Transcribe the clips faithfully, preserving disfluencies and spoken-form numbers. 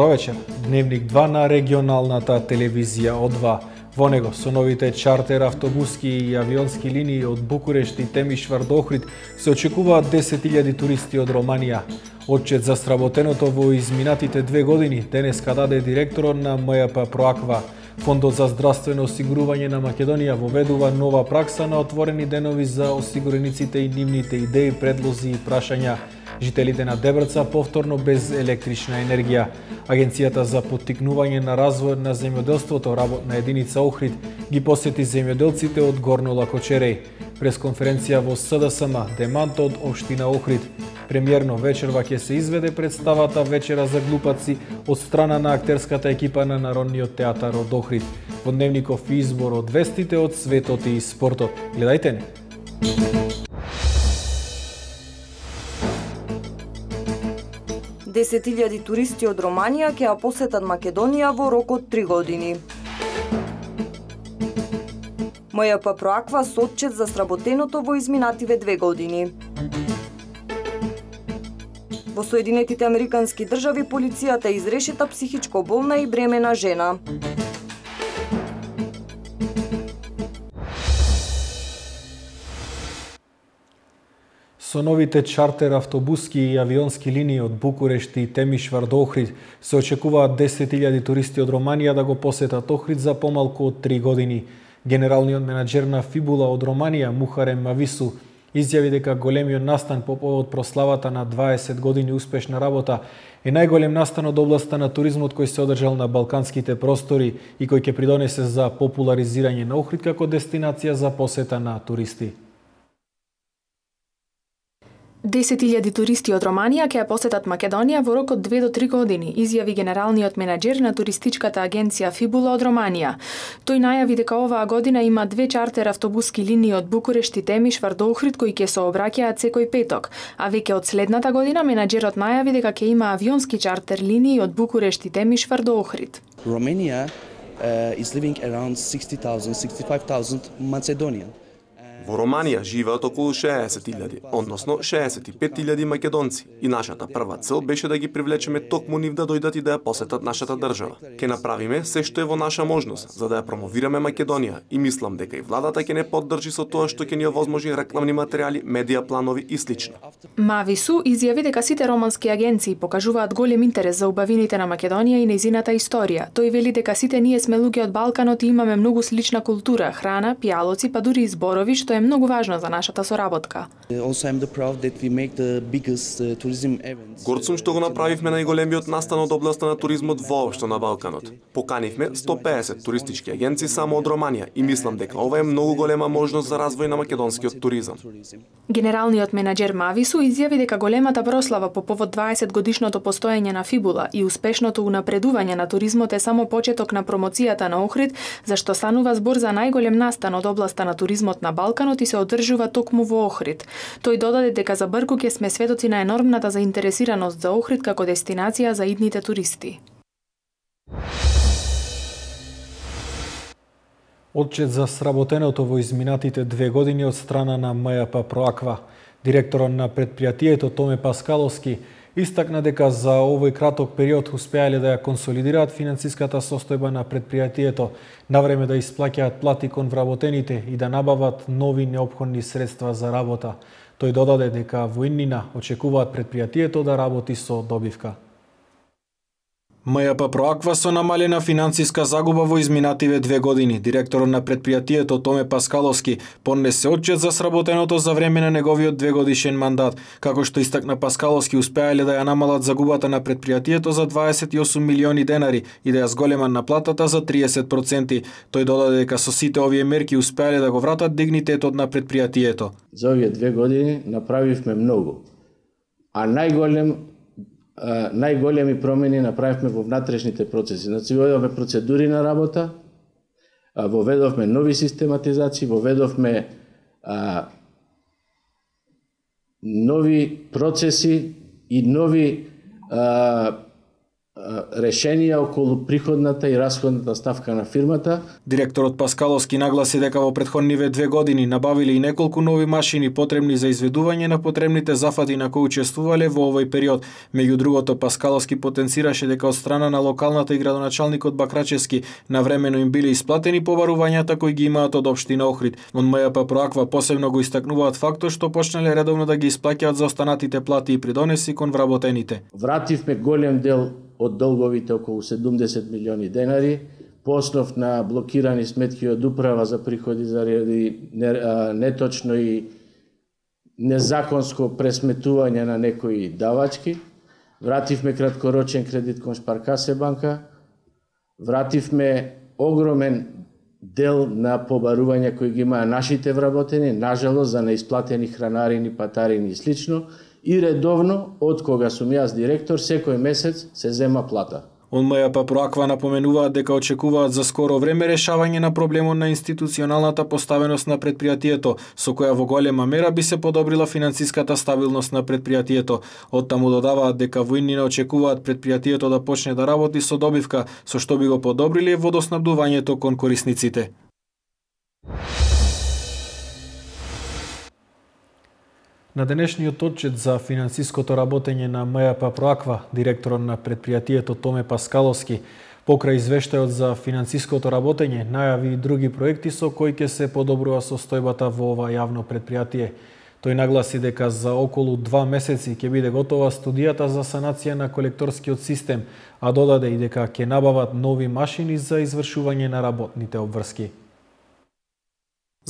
Добро вечер. Дневник два на регионалната телевизија О два. Во него со новите чартер автобуски и авионски линии од Букурешт и Темишвар до Охрид се очекуваат десет илјади туристи од Романија. Отчет за сработеното во изминатите две години денеска даде директорот на М Ј П Проаква. Фондот за здравствено осигурување на Македонија воведува нова пракса на отворени денови за осигурениците и нивните идеи, предлози и прашања. Жителите на Дебрца повторно без електрична енергија. Агенцијата за поттикнување на развојот на земјоделството, работна единица Охрид, ги посети земјоделците од Горно Лакочереј. Прес конференција во С Д С М Деманто од општина Охрид. Премиерно вечерва ќе се изведе представата Вечера за глупаци од страна на актерската екипа на Народниот театар од Охрид. Во дневников избор од вестите од светот и спортот. Гледајте не. десет илјади туристи од Романија ќе ја посетат Македонија во рок од три години. М Ј П Проаква со отчет за сработеното во изминативе две години. Во Соединетите Американски држави полицијата изрешета психичко болна и бремена жена. Со новите чартер автобуски и авионски линии од Букурешт и Темишвар до Охрид се очекуваат десет илјади туристи од Романија да го посетат Охрид за помалку од три години. Генералниот менаџер на Фибула од Романија, Мухарем Мавису, изјави дека големиот настан по повод прославата на дваесет години успешна работа е најголем настан од областа на туризмот кој се одржал на балканските простори и кој ќе придонесе за популаризирање на Охрид како дестинација за посета на туристи. десет илјади туристи од Романија ќе ја посетат Македонија во рок од две до три години, изјави генералниот менаџер на туристичката агенција Фибула од Романија. Тој најави дека оваа година има две чартер автобуски линии од Букурешт и Темишвар до Охрид кои ќе се обраќаат секој петок, а веќе од следната година менаџерот најави дека ќе има авионски чартер линии од Букурешт и Темишвар до Охрид. Romania uh, is living around sixty thousand, sixty-five thousand Macedonian. Во Романија живеат околу шеесет илјади, односно шеесет и пет илјади македонци, и нашата прва цел беше да ги привлечеме токму нив да дојдат и да ја посетат нашата држава. Ке направиме се што е во наша можност за да ја промовираме Македонија и мислам дека и владата ќе не поддржи со тоа што ќе ни овозможи рекламни материјали, медија планови и слично. Мавису изјави дека сите романски агенции покажуваат голем интерес за убавините на Македонија и нејзината историја. Тој вели дека сите ние сме луѓе од Балканот и имаме многу слична култура, храна, пијалоци, па дури и зборови, што е многу важно за нашата соработка. Горд сум што го направивме најголемиот настан од областа на туризмот воопшто на Балканот. Поканивме сто пеесет туристички агенции само од Романија и мислам дека ова е многу голема можност за развој на македонскиот туризам. Генералниот менаџер Мавису изјави дека големата прослава по повод дваесет годишното постоење на Фибула и успешното унапредување на туризмот е само почеток на промоцијата на Охрид, зашто станува збор за најголем настан од областа на туризмот на Балканот и се одржува токму во Охрид. Тој додаде дека за брку ќе сме сведоци на енормната заинтересираност за Охрид како дестинација за идните туристи. Отчет за сработеното во изминатите две години од страна на М Ј П Проаква. Директорот на предпријатието Томе Паскаловски истакна дека за овој краток период успеале да ја консолидираат финансиската состојба на предпријатието, навреме да исплаќаат плати кон вработените и да набават нови неопходни средства за работа. Тој додаде дека во иднина очекуваат предпријатието да работи со добивка. М Ј П Проаква со намалена финансиска загуба во изминативе две години. Директорот на предпријатието Томе Паскаловски поднесе отчет за сработеното за време на неговиот двегодишен мандат. Како што истакна Паскаловски, успеале да ја намалат загубата на предпријатието за дваесет и осум милиони денари и да ја зголемат наплатата за триесет проценти. Тој додаде дека со сите овие мерки успеале да го вратат дигнитетот на предпријатието. За овие две години направивме многу, а најголем најголеми промени направивме во внатрешните процеси. Значи, воведовме процедури на работа, воведовме нови систематизации, воведовме а, нови процеси и нови а, решенија околу приходната и расходната ставка на фирмата. Директорот Паскаловски нагласи дека во претходниве две години набавиле и неколку нови машини потребни за изведување на потребните зафати на кои учествувале во овој период. Меѓу другото, Паскаловски потенцираше дека од страна на локалната и градоначалникот Бакрачевски навремено им биле исплатени побарувањата кои ги имаат од општина Охрид. Од МЈП Проаква посебно го истакнуваат фактот што почнале редовно да ги исплаќаат за останатите плати и придонеси кон вработените. Вративме голем дел од долговите, околу седумдесет милиони денари, по основ на блокирани сметки од управа за приходи заради неточно и незаконско пресметување на некои давачки. Вративме краткорочен кредит кон Шпаркасе банка. Вративме огромен дел на побарувања кои ги имаа нашите вработени, нажалост за неисплатени хранарини, патарини и слично. И редовно, од кога сум јас директор, секој месец се зема плата. Од МЈП Проаква напоменуваат дека очекуваат за скоро време решавање на проблемот на институционалната поставеност на предпријатието, со која во голема мера би се подобрила финансиската стабилност на предпријатието. Оттаму додаваат дека во иднина очекуваат предпријатието да почне да работи со добивка, со што би го подобриле водоснабдувањето кон корисниците. На денешниот отчет за финансиското работење на МЈП Проаква, директорот на предпријатието Томе Паскаловски, покрај извештајот за финансиското работење, најави и други проекти со кои ќе се подобрува состојбата во ова јавно предпријатие. Тој нагласи дека за околу два месеци ќе биде готова студијата за санација на колекторскиот систем, а додаде и дека ќе набават нови машини за извршување на работните обврски.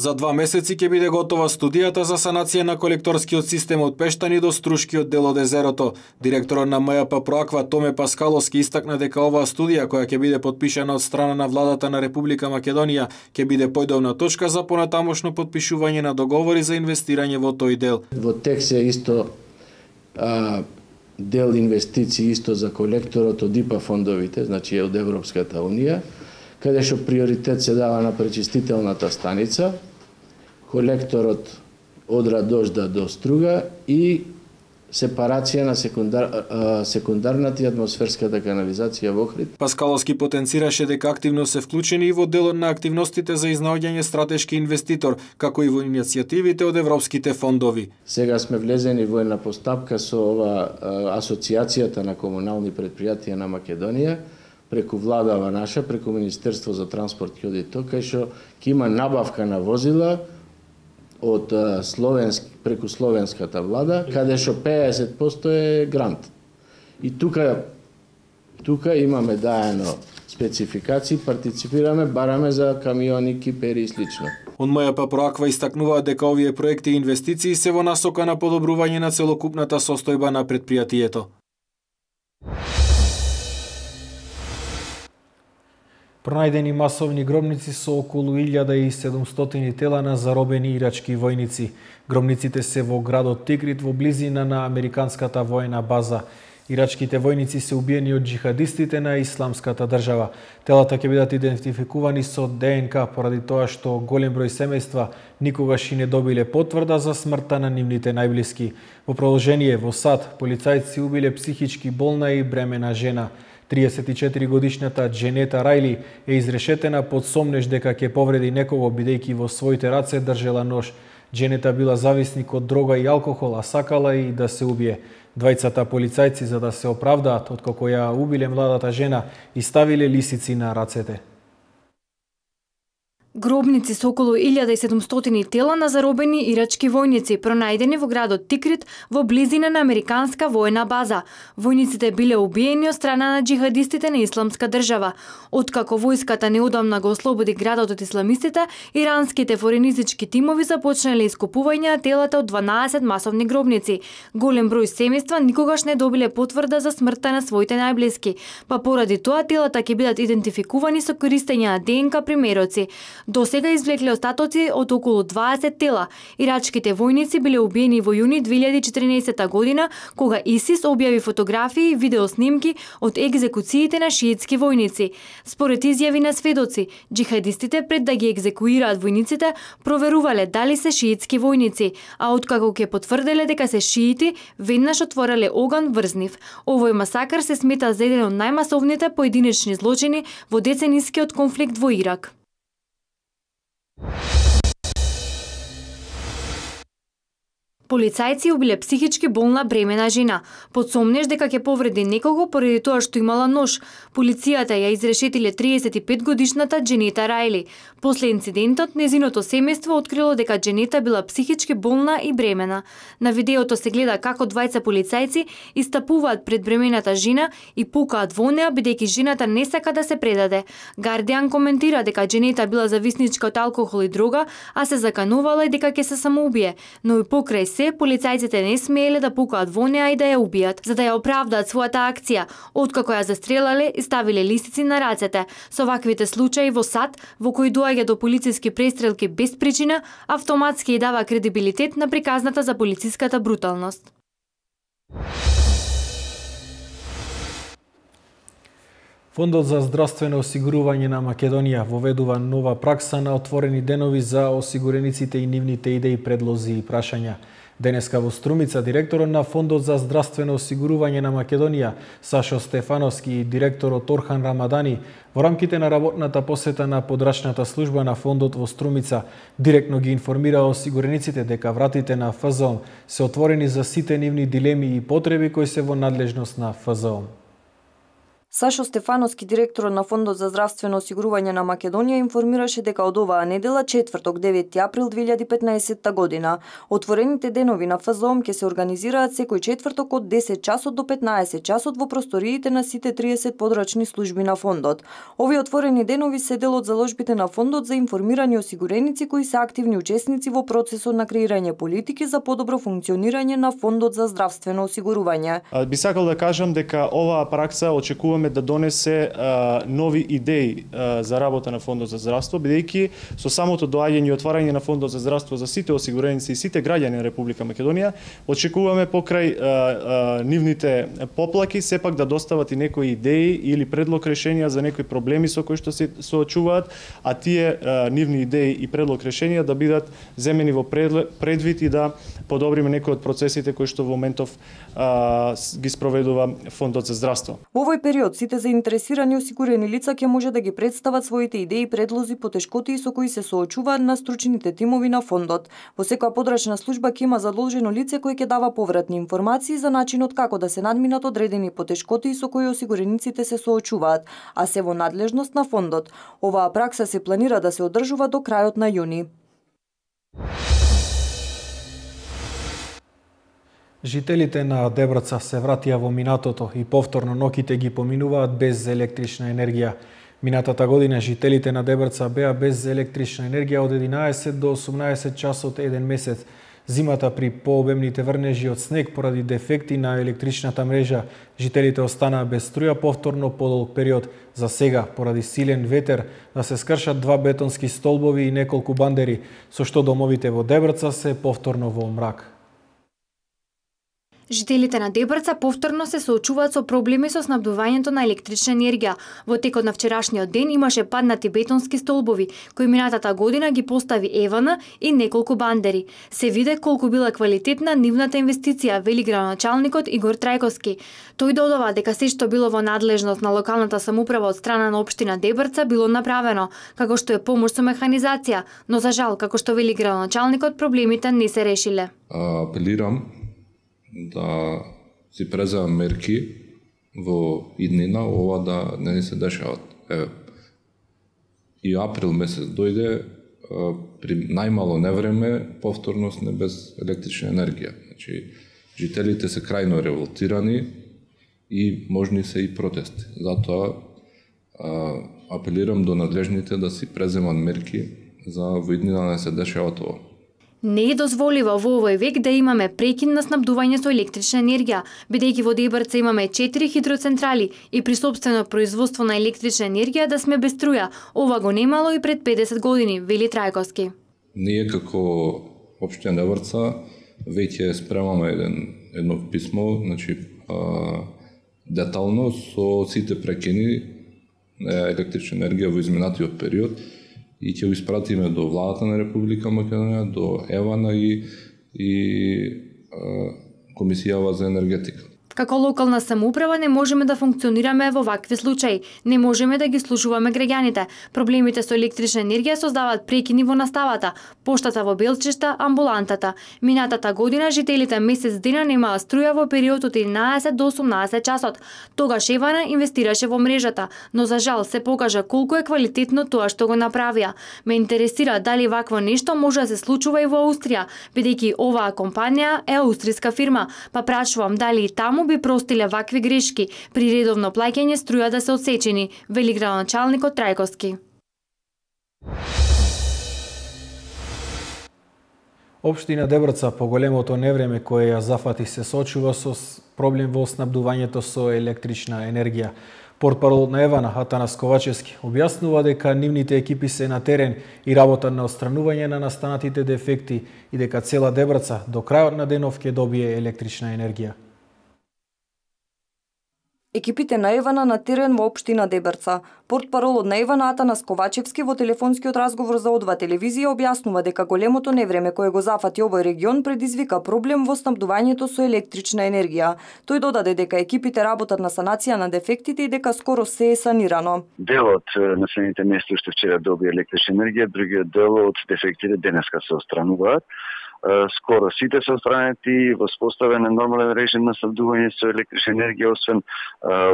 За два месеци ќе биде готова студијата за санација на колекторскиот систем од Пештани до Струшкиот дел од езерото. Директорот на МЈП Проаква Томе Паскаловски истакна дека оваа студија, која ќе биде подпишана од страна на владата на Република Македонија, ќе биде појдовна точка за понатамошно подпишување на договори за инвестирање во тој дел. Во текст е исто а, дел инвестиции исто за колекторот од ИПА фондовите, значи од Европската Унија, каде што приоритет се дава на пречистителната станица, колекторот од Радожда до Струга и сепарација на секундар, секундарната и атмосферската канализација во Охрид. Паскаловски потенцираше дека активно се вклучени и во делот на активностите за изнаоѓање стратешки инвеститор, како и во иницијативите од европските фондови. Сега сме влезени во една постапка со ова асоциацијата на комунални предпријатија на Македонија, преку владава наша, преку Министерство за транспорт и одито, кај што ќе има набавка на возила од словенски, преку словенската влада, каде што педесет проценти е грант. И тука тука имаме даено спецификации, партиципираме, бараме за камиони, кипери и слично. Од МЈП Проаква истакнуваат дека овие проекти и инвестиции се во насока на подобрување на целокупната состојба на предпријатието. Пронајдени масовни гробници со околу илјада и седумстотини тела на заробени ирачки војници. Гробниците се во градот Тикрит во близина на американската воена база. Ирачките војници се убиени од джихадистите на Исламската држава. Телата ќе бидат идентификувани со ДНК поради тоа што голем број семејства никогаш и не добиле потврда за смртта на нивните најблиски. Во продолжение во САД полицајци убиле психички болна и бремена жена. триесет и четири годишната Дженета Рајли е изрешетена под сомнеж дека ќе повреди некого бидејќи во своите раце држела нож. Дженета била зависник од дрога и алкохол, а сакала и да се убие. Двајцата полицајци, за да се оправдаат откако ја убиле младата жена, и ставиле лисици на рацете. Гробници со околу илјада и седумстотини тела на заробени ирачки војници пронајдени во градот Тикрит во близина на американска воена база. Војниците биле убиени од страна на джихадистите на Исламска држава. Откако војската неодамна го ослободи градот од исламистите, иранските форензички тимови започнале искупување на телата од дванаесет масовни гробници. Голем број семејства никогаш не добиле потврда за смртта на своите најблиски, па поради тоа телата ќе бидат идентификувани со користење на ДНК примероци. До сега извлекле остатоци од околу дваесет тела. Ирачките војници биле убиени во јуни две илјади и четрнаесетта година, кога ИСИС објави фотографии и видеоснимки од екзекуциите на шиитски војници. Според изјави на сведоци, џихадистите пред да ги екзекуираат војниците проверувале дали се шиитски војници, а откако ќе потврделе дека се шиити, веднаш отвореле оган врз нив. Овој масакар се смета за еден од најмасовните поединечни злочини во деценискиот конфликт во Ирак. Полицајци убиле психички болна бремена жена. Под сомнеж дека ќе повреди некого поради тоа што имала нож. Полицијата ја изрешетиле триесет и пет годишната Дженета Рајли. После инцидентот, незиното семејство открило дека Дженета била психички болна и бремена. На видеото се гледа како двајца полицајци истапуваат пред бремената жена и пукаат во неа бидејќи жената не сака да се предаде. Гардијан коментира дека Дженета била зависничка од алкохол и дрога, а се заканувала и дека ќе се самоубие, но и покрај се полицајците не смееле да пукаат во неа и да ја убијат, за да ја оправдаат својата акција. Откако ја застрелале и ставиле листици на рацете. Со ваквите случаи во САД, во кои доаѓа до полициски престрелки без причина, автоматски ја дава кредибилитет на приказната за полициската бруталност. Фондот за здравствено осигурување на Македонија воведува нова пракса на отворени денови за осигурениците и нивните идеи, предлози и прашања. Денеска во Струмица директорот на Фондот за здравствено осигурување на Македонија Сашо Стефановски и директорот Орхан Рамадани во рамките на работната посета на подрачната служба на Фондот во Струмица директно ги информираа осигурениците дека вратите на ФЗОМ се отворени за сите нивни дилеми и потреби кои се во надлежност на ФЗОМ. Сашо Стефановски, директорот на Фондот за здравствено осигурување на Македонија, информираше дека од оваа недела, четврток, девети април две илјади и петнаесетта година, отворените денови на ФЗОМ ќе се организираат секој четврток од десет часот до петнаесет часот во просториите на сите триесет подрачни служби на Фондот. Овие отворени денови се дел од заложбите на Фондот за информирани осигуреници кои се активни учесници во процесот на креирање политики за подобро функционирање на Фондот за здравствено осигурување. Би сакал да кажам дека оваа пракса очекуваме да донесе а, нови идеи а, за работа на Фондот за здравство, бидејќи со самото доаѓање и отварање на Фондот за здравство за сите осигуреници и сите граѓани на Република Македонија, очекуваме покрај а, а, нивните поплаки сепак да достават и некои идеи или предлог решенија за некои проблеми со кои што се соочуваат, а тие а, нивни идеи и предлог решенија да бидат земени во предвид и да подобриме некои од процесите кои што во моментов а, ги спроведува Фондот за здравство. Во овој период сите заинтересирани осигурени лица ќе може да ги представат своите идеи, предлози, потешкоти со кои се соочуваат на стручните тимови на Фондот. Во секоја подрачна служба ќе има задолжено лице кој ќе дава повратни информации за начинот како да се надминат одредени потешкоти со кои осигурениците се соочуваат, а се во надлежност на Фондот. Оваа пракса се планира да се одржува до крајот на јуни. Жителите на Дебрца се вратија во минатото и повторно ноќите ги поминуваат без електрична енергија. Минатата година жителите на Дебрца беа без електрична енергија од единаесет до осумнаесет часот еден месец. Зимата при пообемните врнежи од снег поради дефекти на електричната мрежа, жителите останаа без струја повторно подолг период. За сега, поради силен ветер, да се скршат два бетонски столбови и неколку бандери, со што домовите во Дебрца се повторно во мрак. Жителите на Дебрца повторно се соочуваат со проблеми со снабдувањето на електрична енергија. Во текот на вчерашниот ден имаше паднати бетонски столбови, кои минатата година ги постави Евана и неколку бандери. Се виде колку била квалитетна нивната инвестиција, вели градоначалникот Игор Трајковски. Тој додава дека се што било во надлежност на локалната самоуправа од страна на општина Дебрца било направено, како што е помош со механизација, но за жал, како што вели градоначалникот, проблемите не се решиле. Апелирам да си преземам мерки во иднина, ова да не се дешават. Еве, и април месец дојде, при најмало невреме, повторно сме без електрична енергија. Значи, жителите се крајно револтирани и можни се и протести. Затоа апелирам до надлежните да си преземат мерки за во иднина да не се дешава тоа. Не е дозволиво во овој век да имаме прекин на снабдување со електрична енергија, бидејќи во Дебрца имаме четири хидроцентрали и при сопствено производство на електрична енергија да сме без струја. Ова го немало и пред педесет години, вели Трајковски. Ние како општина Дебрца веќе спремаме еден едно писмо, значи а, детално со сите прекини на електрична енергија во изминатиот период и ќе го испратиме до владата на Република Македонија, до ЕВАНА и, и а, Комисијава за енергетика. Како локална самоуправа не можеме да функционираме во вакви случаи. Не можеме да ги слушуваме граѓаните. Проблемите со електрична енергија создаваат прекини во наставата, поштата во Белчешта, амбулантата. Минатата година жителите месец дена немаа струја во период од единаесет до осумнаесет часот. Тогаш ЕВАНА инвестираше во мрежата, но за жал се покажа колку е квалитетно тоа што го направија. Ме интересира дали вакво нешто може да се случува и во Австрија, бидејќи оваа компанија е аустријска фирма, па прашувам дали и таму би простиле вакви грешки при редовно плаќање струја да се одсечени, вели градоначалникот Трајковски. Општина Дебрца по големото невреме кое ја зафати се соочува со проблем во снабдувањето со електрична енергија. Портпаролот на ЕВАНА Атанас Ковачевски објаснува дека нивните екипи се на терен и работа на отстранување на настанатите дефекти и дека цела Дебрца до крајот на денов ќе добие електрична енергија. Екипите на ЕВАНА на терен во општина Дебрца. Портпаролот на ЕВАНА Атанас Ковачевски во телефонскиот разговор за О два телевизија објаснува дека големото невреме кое го зафати овој регион предизвика проблем во снабдувањето со електрична енергија. Тој додаде дека екипите работат на санација на дефектите и дека скоро се е санирано. Дел од населените места што вчера добија електрична енергија, другиот дел од дефектите денеска се отстрануваат. Скоро сите се отстранети, воспоставен е нормален режим на снабдување со електрична енергија, освен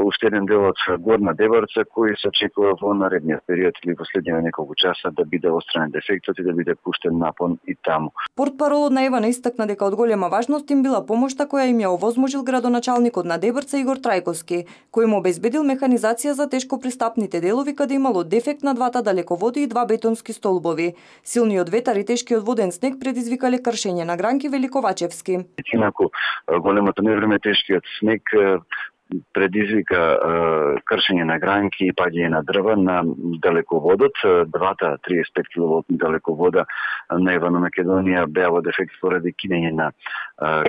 уште еден дел од Горна Дебрца кој се очекува во наредниот период или последните неколку часа да биде отстранен дефектот и да биде пуштен напон и таму. Портпаролот на ЕВАНА истакна дека од голема важност им била помошта која им ја овозможил градоначалникот на Дебрца Игор Трајковски, кој му обезбедил механизација за тешко пристапните делови каде имало дефект на двата далеководи и два бетонски столбови. Силниот ветар и тешкиот воден снег предизвикале кршење на гранки, вели Ковачевски. Инаку големото невреме, тешкиот снег предизвика кршење на гранки и паѓање на дрва на далеководот. Двата триесет и пет киловолтни далековода на ЕВАНА Македонија беа во дефект поради кинење на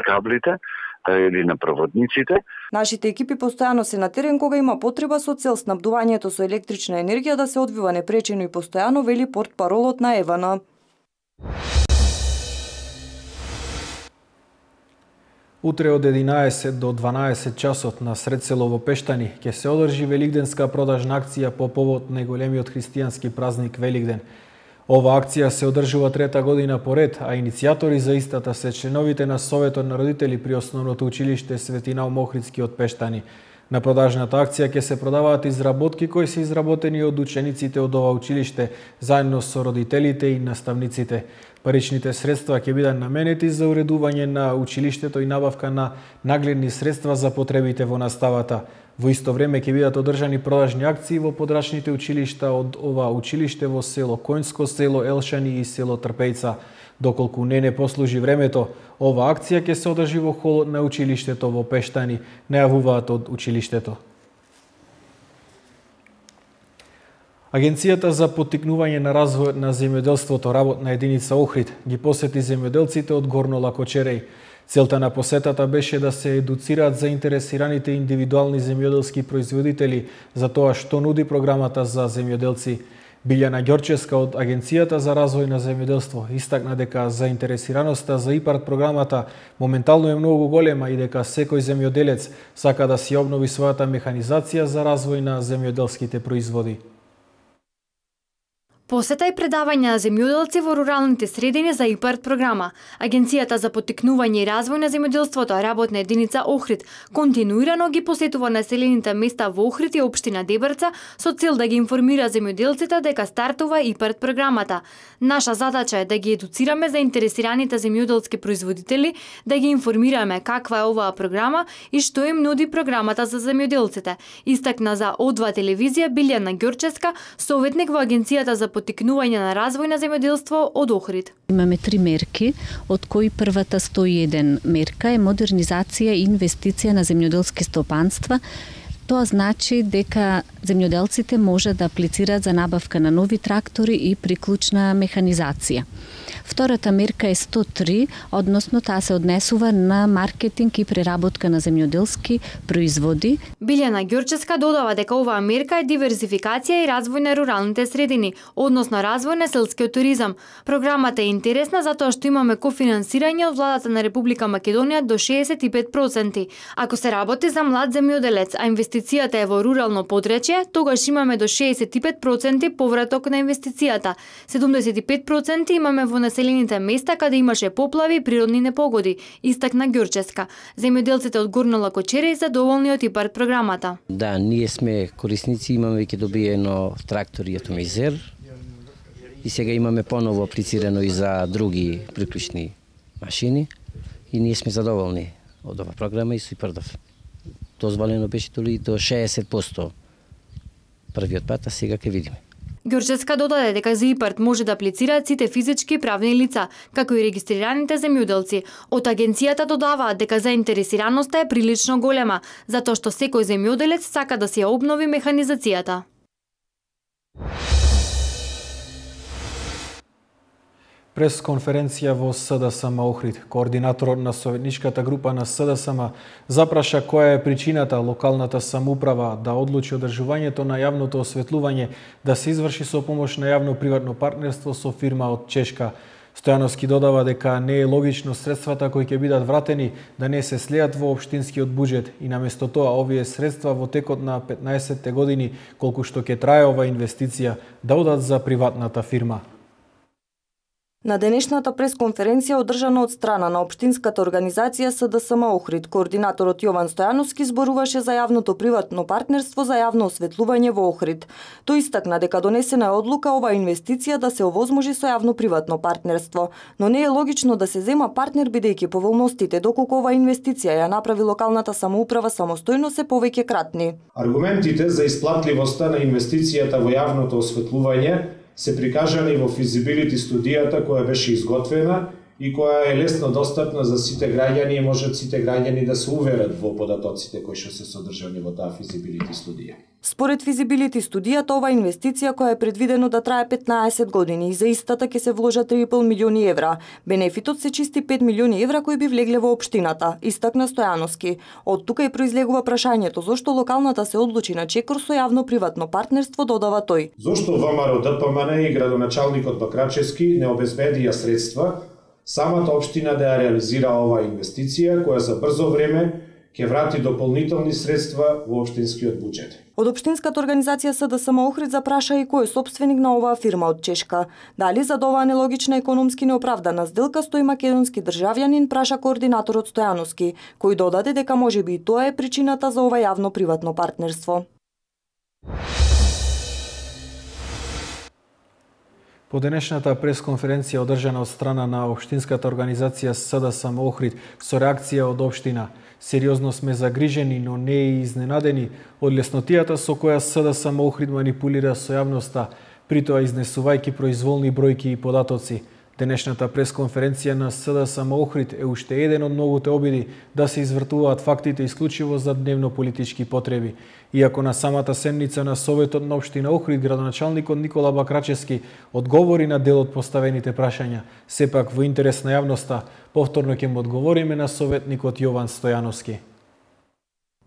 каблите или на проводниците. Нашите екипи постојано се на терен кога има потреба со цел снабдувањето со електрична енергија да се одвива непречено и постојано, вели портпаролот на ЕВАНА. Утре од единаесет до дванаесет часот на сред село во Пештани ќе се одржи великденска продажна акција по повод најголемиот христијански празник Великден. Ова акција се одржува трета година поред, а иницијатори за истата се членовите на Советот на родители при Основното училиште Свети Наум Охридски од Пештани. На продажната акција ќе се продаваат изработки кои се изработени од учениците од ова училиште заедно со родителите и наставниците. Паричните средства ќе бидат наменети за уредување на училиштето и набавка на нагледни средства за потребите во наставата. Во исто време ќе бидат одржани продажни акции во подрачните училишта од ова училиште во село Коњско, село Елшани и село Трпејца. Доколку не не послужи времето, ова акција ќе се одржи во холот на училиштето во Пештани, најавуваат од училиштето. Агенцијата за поттикнување на развојот на земјоделството, работна единица Охрид, ги посети земјоделците од Горно Лакочереј. Целта на посетата беше да се едуцираат заинтересираните индивидуални земјоделски производители за тоа што нуди програмата за земјоделци. Билјана Ѓорчевска од Агенцијата за развој на земјоделство истакна дека заинтересираноста за ИПАРД програмата моментално е многу голема и дека секој земјоделец сака да си обнови својата механизација за развој на земјоделските производи. Посета и предавање на земјоделци во руралните средини за ИПАРД програма. Агенцијата за поттикнување и развој на земјоделството, работна единица Охрид, континуирано ги посетува населените места во Охрид и општина Дебрца со цел да ги информира земјоделците дека стартува ИПАРД програмата. Наша задача е да ги едуцираме заинтересираните земјоделски производители, да ги информираме каква е оваа програма и што им нуди програмата за земјоделците. Истакна за О два телевизија Билјана Ѓорчевска, советник во Агенцијата за поттикнување на развој на земјоделство од Охрид. Имаме три мерки, од кои првата сто и еден мерка е модернизација и инвестиција на земјоделски стопанства. Тоа значи дека земјоделците може да аплицираат за набавка на нови трактори и приклучна механизација. Втората мерка е сто три, односно таа се однесува на маркетинг и преработка на земјоделски производи. Билјана Ѓурчевска додава дека оваа мерка е диверзификација и развој на руралните средини, односно развој на селскиот туризам. Програмата е интересна затоа што имаме кофинансирање од владата на Република Македонија до шеесет и пет проценти. Ако се работи за млад земјоделец, а инвестицијата е во рурално подречје, тогаш имаме до шеесет и пет проценти повраток на инвестицијата. седумдесет и пет проценти имаме во населените места каде имаше поплави и природни непогоди, истакна Ѓурчевска. Земјоделците од Горно Лакочере задоволни од ИПАРД програмата. Да, ние сме корисници, имаме веќе добиено трактор и атомизер и сега имаме поново аплицирано и за други приклучни машини и ние сме задоволни од оваа програма и со ИПАРДов. Дозволено беше толи до шеесет проценти првиот пат, а сега ќе видиме. Ѓурчевска додаде дека за ИПАРД може да аплицираат сите физички и правни лица, како и регистрираните земјоделци. Од агенцијата додаваат дека заинтересираноста е прилично голема, затоа што секој земјоделец сака да си ја обнови механизацијата. Пресконференција во СДСМ Охрид. Координаторот на советничката група на СДСМ запраша која е причината локалната самоуправа да одлучи одржувањето на јавното осветлување да се изврши со помош на јавно-приватно партнерство со фирма од Чешка. Стојановски додава дека не е логично средствата кои ќе бидат вратени да не се слеат во општинскиот буџет и наместо тоа овие средства во текот на петнаесетте години колку што ќе трае ова инвестиција да одат за приватната фирма. На денешната пресконференција одржана од страна на општинската организација СДСМ Охрид, координаторот Јован Стојановски зборуваше за јавното приватно партнерство за јавно осветлување во Охрид. Тој истакна дека донесена е одлука оваа инвестиција да се овозможи со јавно приватно партнерство, но не е логично да се зема партнер бидејќи поволностите доколку оваа инвестиција ја направи локалната самоуправа самостојно се повеќе кратни. Аргументите за исплатливоста на инвестицијата во јавното осветлување се прикажани во физибилити студијата која беше изготвена и која е лесно достапна за сите граѓани и можат сите граѓани да се уверат во податоците кои што се содржани во таа физибилити студија. Според физибилити студијата, ова инвестиција која е предвидено да трае петнаесет години и за истата ќе се вложат три и пол милиони евра. Бенефитот се чисти пет милиони евра кои би влегле во општината, истакна Стојановски. Од тука и произлегува прашањето зошто локалната се одлучи на чекор со јавно-приватно партнерство, додава тој. Зошто ВМРО ДПМН и градоначалникот Бакрачевски не обезбедија средства самата општина да ја реализира оваа инвестиција која за брзо време ќе врати дополнителни средства во општинскиот буџет. Од општинската организација СДСМ Охрид запраша и кој е собственик на оваа фирма од Чешка. Дали за оваа нелогична економски неоправдана сделка стои македонски државјанин, праша координаторот Стојановски, кој додаде дека можеби и тоа е причината за ова јавно-приватно партнерство. По денешната пресконференција одржана од страна на општинската организација СДСМ Охрид со реакција од општина. Сериозно сме загрижени, но не и изненадени од леснотијата со која СДСМ Охрид манипулира со јавноста, притоа изнесувајќи произволни бројки и податоци. Денешната пресконференција на СДСМ Охрид е уште еден од многуте обиди да се извртуваат фактите исклучиво за дневно-политички потреби. Иако на самата седница на Советот на општина Охрид градоначалникот Никола Бакрачевски одговори на дел од поставените прашања, сепак во интерес на јавноста, повторно ќе му одговориме на советникот Јован Стојановски.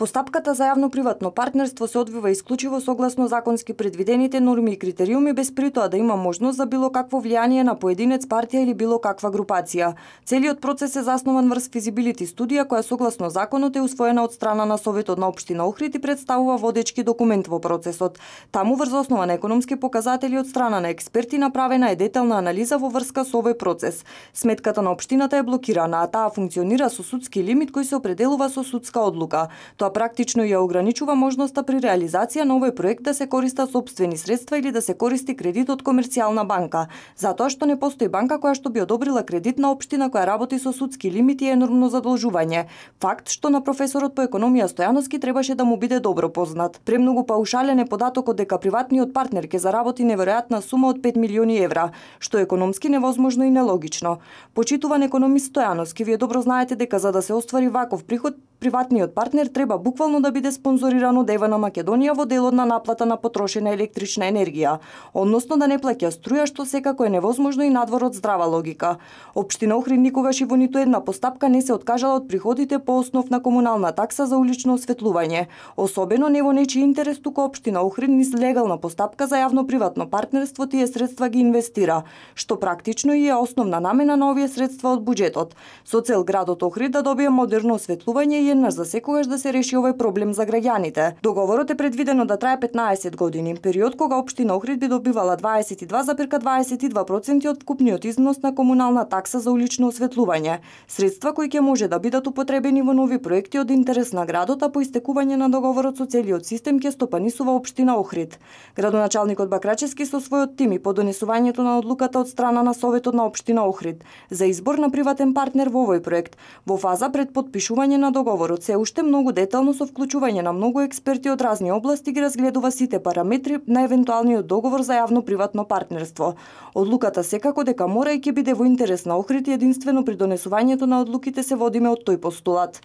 Постапката за јавно-приватно партнерство се одвива исклучиво согласно законски предвидените норми и критериуми без притоа да има можност за било какво влијание на поединец, партија или било каква групација. Целиот процес е заснован врз физибилити студија која согласно законот е усвоена од страна на Советот на општина Охрид и представува водечки документ во процесот. Таму врз основа на економски показатели од страна на експерти направена е детална анализа во врска со овој процес. Сметката на општината е блокирана, а таа функционира со судски лимит кој се определува со судска одлука. Тоа Тоа практично ја ограничува можноста при реализација на овој проект да се користат сопствени средства или да се користи кредит од комерцијална банка, затоа што не постои банка која што би одобрила кредит на општина која работи со судски лимити и енормно задолжување. Факт што на професорот по економија Стојановски требаше да му биде добро познат. Премногу паушален е податокот дека приватниот партнер ќе заработи неверојатна сума од пет милиони евра, што е економски невозможно и нелогично. Почитуван економист Стојановски, вие добро знаете дека за да се оствари ваков приход, приватниот партнер треба буквално да биде спонзориран од Ева на Македонија во делот на наплата на потрошена електрична енергија, односно да не плаќа струја, што секако е невозможно и надвор од здрава логика. Општина Охрид никогаш и во ниту една постапка не се откажала од приходите по основ на комунална такса за улично осветлување, особено не во нечи интерес, туку општина Охрид низ легална постапка за јавно-приватно партнерство тие средства ги инвестира, што практично и е основна намена на овие средства од буџетот, со цел градот Охрид да добие модерно осветлување и еднаш за секогаш да се реши овој проблем за граѓаните. Договорот е предвидено да трае петнаесет години, период кога општина Охрид би добивала дваесет и два зарез дваесет и два проценти од вкупниот износ на комунална такса за улично осветлување, средства кои ќе може да бидат употребени во нови проекти од интерес на градот, а по истекување на договорот со целиот систем ќе стопанисува општина Охрид. Градоначалникот Бакрачевски со својот тим и по донесувањето на одлуката од страна на Советот на општина Охрид за избор на приватен партнер во овој проект, во фаза пред подпишување на договорот, се уште многу детално со вклучување на многу експерти од разни области ги разгледува сите параметри на евентуалниот договор за јавно-приватно партнерство. Одлуката секако дека мора и ќе биде во интерес на Охрид и единствено при донесувањето на одлуките се водиме од тој постулат.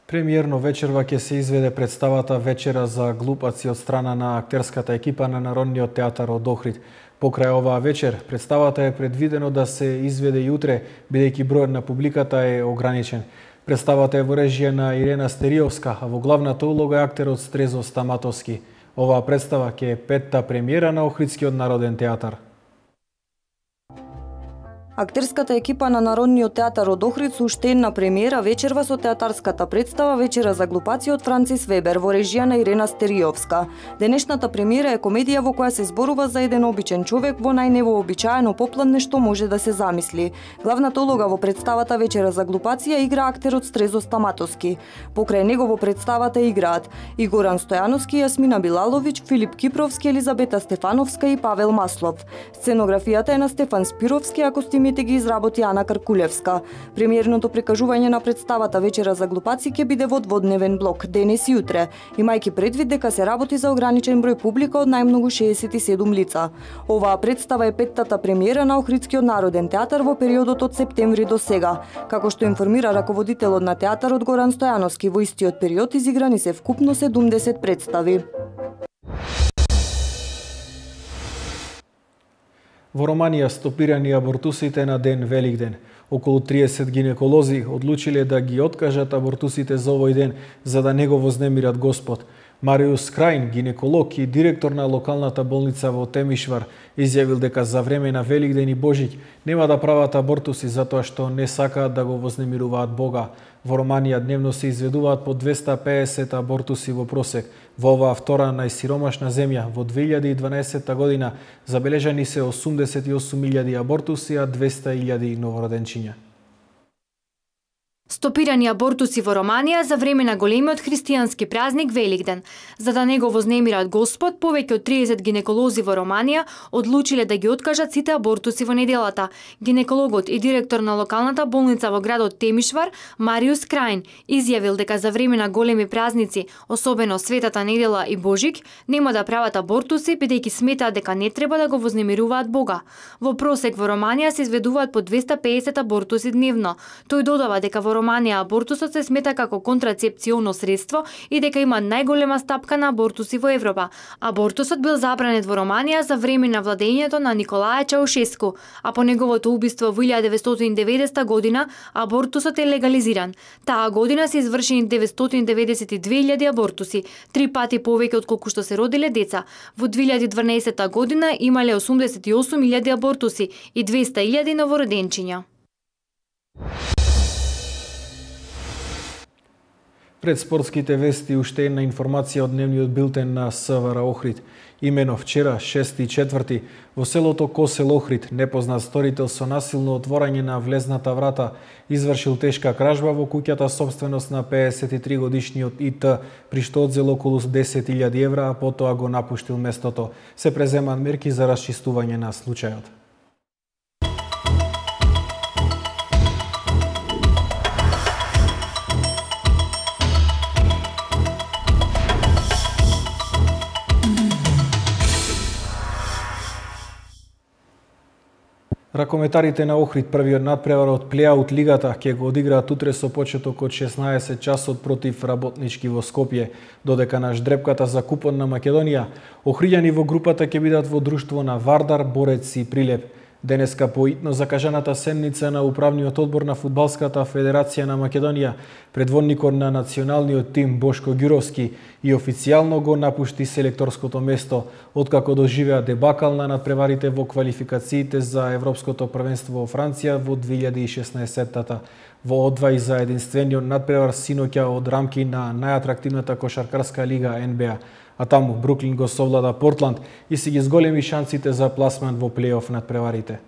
Премиерно вечерва ќе се изведе представата Вечера за глупаци од страна на актерската екипа на Народниот театар од Охрид. Покрај оваа вечер, представата е предвидено да се изведе и утре, бидејќи бројот на публиката е ограничен. Представата е во режија на Ирена Стериовска, а во главната улога е актерот Стрезо Стаматовски. Оваа представа ќе е петта премиера на Охридскиот народен театар. Актерската екипа на Народниот театар од Охрид со уште една премиера вечерва со театарската представа Вечера за глупаци од Францис Вебер во режија на Ирена Стериовска. Денешната премиера е комедија во која се зборува за еден обичен човек во најневообичаено попладне што може да се замисли. Главната улога во представата Вечера за глупаци ја игра актерот Стрезо Стаматовски. Покрај него во представата играат и Горан Стојановски, Јасмина Билаловиќ, Филип Кипровски, Елизабета Стефановска и Павел Маслов. Сценографијата е на Стефан Спировски, а костимите ги изработи Ана Каркулевска. Премиерното прикажување на представата Вечера за глупаци ќе биде во дводневен блок, денес и утре, имајќи предвид дека се работи за ограничен број публика од најмногу шеесет и седум лица. Оваа представа е петтата премиера на Охридскиот народен театар во периодот од септември до сега. Како што информира раководителот на театарот Горан Стојановски, во истиот период изиграни се вкупно седумдесет представи. Во Романија стопирани абортусите на ден Великден. Околу триесет гинеколози одлучиле да ги откажат абортусите за овој ден, за да не го вознемират Господ. Мариус Крајн, гинеколог и директор на локалната болница во Темишвар, изјавил дека за време на Великден и Божиќ нема да прават абортуси затоа што не сакаат да го вознемируваат Бога. Во Романија дневно се изведуваат по двесте и педесет абортуси во просек. Во оваа втора најсиромашна земја во две илјади и дванаесетта година забележани се осумдесет и осум илјади абортуси, а двесте илјади новороденчиња. Стопирани абортуси во Романија за време на големиот христијански празник Великден. За да не го вознемират Господ, повеќе од триесет гинеколози во Романија одлучиле да ги откажат сите абортуси во неделата. Гинекологот и директор на локалната болница во градот Темишвар, Мариус Крајн, изјавил дека за време на големи празници, особено Светата недела и Божик, нема да прават абортуси бидејќи сметаат дека не треба да го вознемируваат Бога. Во просек во Романија се изведуваат по двесте и педесет абортуси дневно. Тој додава дека во Романија абортусот се смета како контрацепционо средство и дека има најголема стапка на абортуси во Европа. Абортусот бил забранет во Романија за време на владењето на Николај Чаушеску, а по неговото убиство во илјада деветстотини и деветдесета година абортусот е легализиран. Таа година се извршени деветстотини деветдесет и две илјади абортуси, три пати повеќе од колку што се родиле деца. Во две илјади и дванаесетта година имале осумдесет и осум илјади абортуси и двесте илјади новороденчиња. Пред спортските вести уште една информација од дневниот билтен на СВР Охрид. Имено вчера, шести и четврти, во селото Косел Охрид, непознат сторител со насилно отворање на влезната врата извршил тешка кражба во куќата собственост на пеесет и три годишниот И Т, при што одзел околу десет илјади евра, а потоа го напуштил местото. Се преземаат мерки за расчистување на случајот. Ракометарите на Охрид првиот надпревар од плеаут лигата ќе го одиграат утре со почеток од шеснаесет часот против Работнички во Скопје, додека на ждрепката за купон на Македонија, охриѓани во групата ќе бидат во друштво на Вардар, Борец и Прилеп. Денеска по итно закажаната седница на управниот одбор на Фудбалската федерација на Македонија, предводникот на националниот тим Бошко Ѓуровски и официјално го напушти селекторското место, откако доживеа дебакал на надпреварите во квалификациите за Европското првенство во Франција во две илјади и шеснаесеттата. Во одвај за единствениот надпревар синоќа од рамки на најатрактивната кошаркарска лига Н Б А, а таму Бруклин го совлада Портланд и си ги зголеми шансите за пласман во плейоф надпреварите.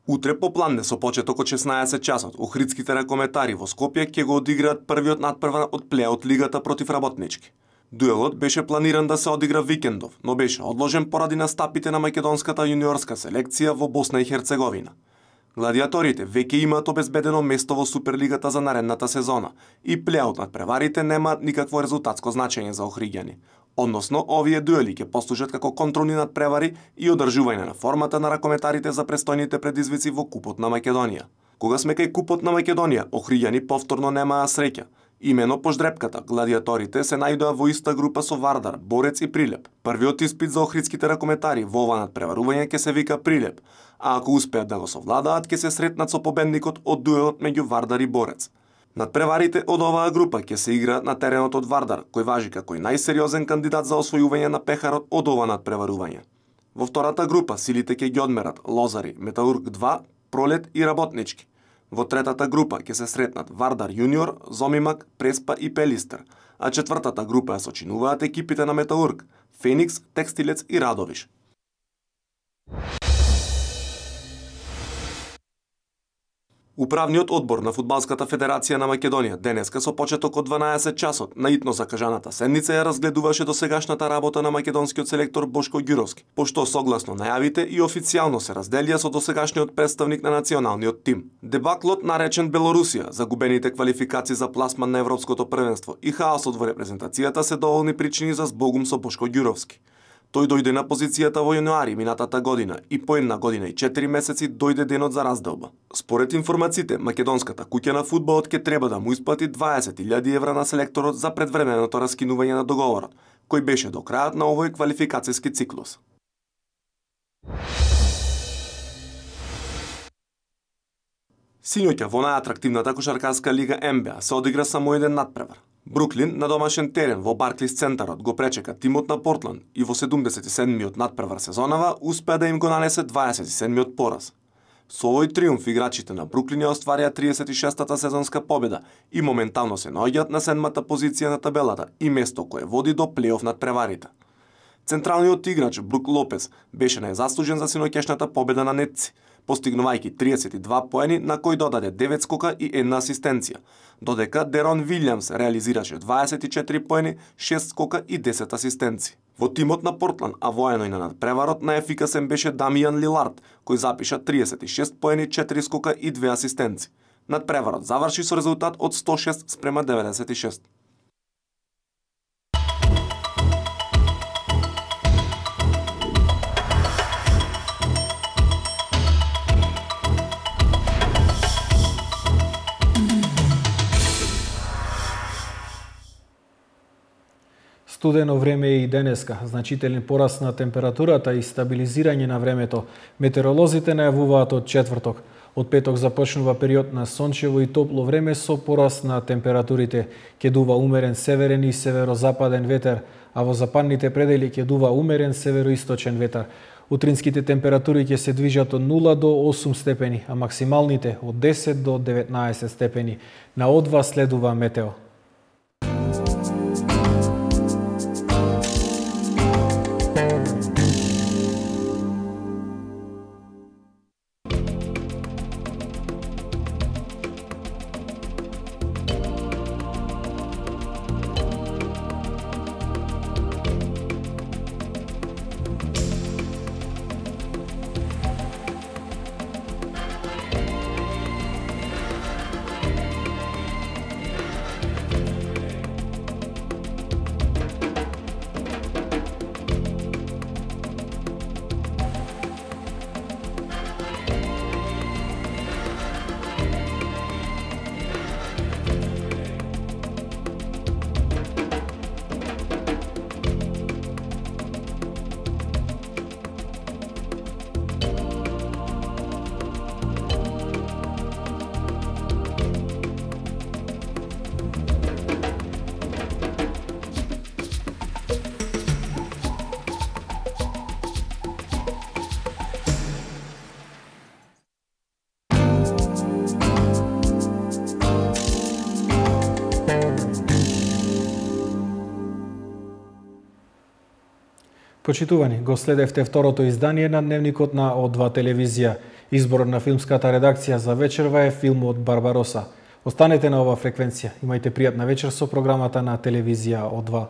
Утре попладне со почеток од шеснаесет часот, охридските ракометари во Скопје ќе го одиграат првиот надпревар од плеаут лигата против Работнички. Дуелот беше планиран да се одигра викендов, но беше одложен поради настапите на македонската јуниорска селекција во Босна и Херцеговина. Гладиаторите веќе имаат обезбедено место во Суперлигата за наредната сезона и плеаут надпреварите немаат никакво резултатско значење за охриѓани. Односно, овие дуели ќе послужат како контролни надпревари и одржување на формата на ракометарите за престојните предизвици во Купот на Македонија. Кога сме кај Купот на Македонија, охриѓани повторно немаа среќа. Имено по ждрепката, гладиаторите се најдоа во иста група со Вардар, Борец и Прилеп. Првиот испит за охридските ракометари во ова надпреварување ќе се вика Прилеп, а ако успеат да го совладаат, ќе се сретнат со победникот од дуелот меѓу Вардар и Борец. Надпреварите од оваа група ќе се играат на теренот од Вардар, кој важи како најсериозен кандидат за освојување на пехарот од ова надпреварување. Во втората група силите ќе ги одмерат Лозари, Металург два, Пролет и Работнички. Во третата група ќе се сретнат Вардар Јуниор, Зомимак, Преспа и Пелистер, а четвртата група ја сочинуваат екипите на Металург, Феникс, Текстилец и Радовиш. Управниот одбор на Фудбалската федерација на Македонија денеска со почеток од дванаесет часот на итно закажаната седница ја разгледуваше досегашната работа на македонскиот селектор Бошко Ѓуровски, пошто согласно најавите и официјално се разделија со досегашниот представник на националниот тим. Дебаклот наречен Белорусија, загубените квалификации за пласман на Европското првенство и хаосот во репрезентацијата се доволни причини за збогум со Бошко Ѓуровски. Тој дојде на позицијата во јануари минатата година и по една година и четири месеци дојде денот за разделба. Според информациите, македонската куќа на фудбалот ќе треба да му исплати дваесет илјади евра на селекторот за предвременото раскинување на договорот, кој беше до крајот на овој квалификацијски циклус. Синоќа во најатрактивната кошаркарска лига Н Б А се одигра само еден надпревар. Бруклин на домашен терен во Барклис центарот го пречека тимот на Портланд и во седумдесет и седмиот надпревар сезонава успеа да им го нанесе дваесет и седмиот пораз. Со овој триумф играчите на Бруклин ја остварија триесет и шестата сезонска победа и моментално се наоѓаат на седмата позиција на табелата и место кое води до плейоф надпреварите. Централниот играч Брук Лопес беше најзаслужен за синоќешната победа на нетци, постигнувајќи триесет и два поени на кој додаде девет скока и една асистенција, додека Дерон Вилјамс реализираше дваесет и четири поени, шест скока и десет асистенци. Во тимот на Портланд, а воено и на надпреварот, најефикасен беше Дамијан Лилард, кој запиша триесет и шест поени, четири скока и две асистенци. Надпреварот заврши со резултат од сто и шест спрема деветдесет и шест. Студено време е и денеска, значителен пораст на температурата и стабилизирање на времето. Метеоролозите најавуваат од четврток. Од петок започнува период на сончево и топло време со пораст на температурите. Ќе дува умерен северен и северозападен ветер, а во западните предели ќе дува умерен североисточен ветер. Утринските температури ќе се движат од нула до осум степени, а максималните од десет до деветнаесет степени. На одва следува метео. Почитувани, го следевте второто издание на Дневникот на О два телевизија. Избор на филмската редакција за вечерва е филмот Барбароса. Останете на оваа фреквенција. Имајте пријатна вечер со програмата на телевизија О два.